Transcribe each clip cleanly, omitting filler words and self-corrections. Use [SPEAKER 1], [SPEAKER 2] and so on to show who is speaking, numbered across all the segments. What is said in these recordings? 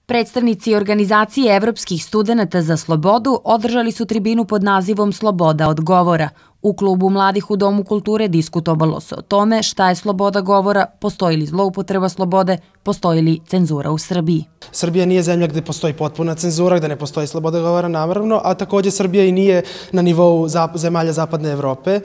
[SPEAKER 1] Predstavnici organizacije evropskih studenata za slobodu održali su tribinu pod nazivom Sloboda od govora. U klubu mladih u Domu kulture diskutovalo se o tome šta je sloboda govora, postoji li zloupotreba slobode, postoji li cenzura u Srbiji.
[SPEAKER 2] Srbija nije zemlja gde postoji potpuna cenzura, gde ne postoji sloboda govora, naravno, a takođe Srbija i nije na nivou zemalja Zapadne Evrope.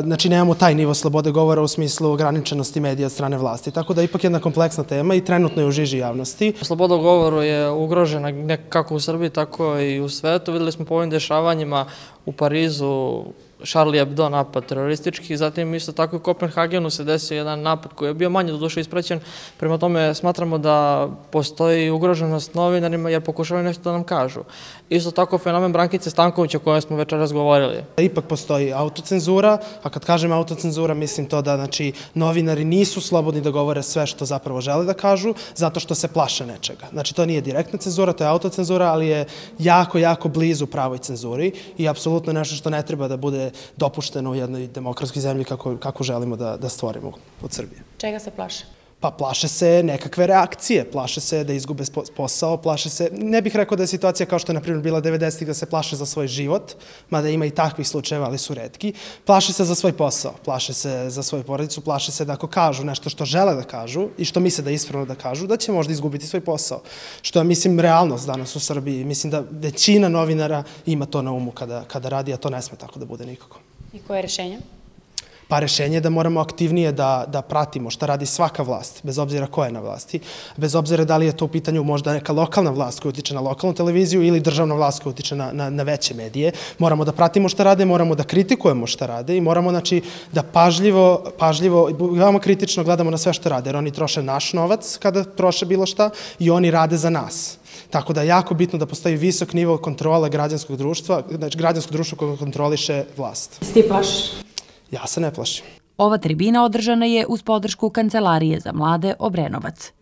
[SPEAKER 2] Znači, nemamo taj nivo slobode govora u smislu ograničenosti medija od strane vlasti. Tako da je ipak jedna kompleksna tema i trenutno je u žiži javnosti.
[SPEAKER 3] Sloboda govora je ugrožena kako u Srbiji, tako i u svetu. Videli smo po ovim dešavanjima u Parizu, Charlie Hebdo napad teroristički, zatim isto tako i u Kopenhagenu se desio jedan napad koji je bio manje doduše ispraćen. Prema tome smatramo da postoji ugroženost novinarima jer pokušavaju nešto da nam kažu. Isto tako fenomen Brankice Stanković o kojoj smo večeras govorili.
[SPEAKER 2] Ipak postoji autocenzura, a kad kažem autocenzura mislim to da novinari nisu slobodni da govore sve što zapravo žele da kažu zato što se plaše nečega. Znači to nije direktna cenzura, to je autocenzura, ali je jako, jako blizu pravoj cenzuri i apsolutno nešto što ne treba da bude dopušteno u jednoj demokratskoj zemlji kako želimo da stvorimo od Srbije.
[SPEAKER 4] Čega se plaše?
[SPEAKER 2] Pa plaše se nekakve reakcije, plaše se da izgube posao, plaše se, ne bih rekao da je situacija kao što je na primjer bila 90-ih da se plaše za svoj život, mada ima i takvih slučajeva, ali su retki, plaše se za svoj posao, plaše se za svoju porodicu, plaše se da ako kažu nešto što žele da kažu i što misle da je ispravno da kažu, da će možda izgubiti svoj posao. Što je, mislim, realnost danas u Srbiji. Mislim da većina novinara ima to na umu kada radi, a to ne sme tako da bude nikako.
[SPEAKER 4] I koje je rešenje?
[SPEAKER 2] Pa rešenje je da moramo aktivnije da pratimo šta radi svaka vlast, bez obzira ko je na vlasti, bez obzira da li je to u pitanju možda neka lokalna vlast koja utiče na lokalnu televiziju ili državna vlast koja utiče na veće medije. Moramo da pratimo šta rade, moramo da kritikujemo šta rade i moramo da pažljivo, veoma kritično gledamo na sve što rade, jer oni troše naš novac kada troše bilo šta i oni rade za nas. Tako da je jako bitno da postoji visok nivo kontrole građanskog društva, znači građansko društvo koje kontroliše vlast.
[SPEAKER 4] Jesi ti plašiš?
[SPEAKER 2] Ja se ne plašim.
[SPEAKER 1] Ova tribina održana je uz podršku Kancelarije za mlade Obrenovac.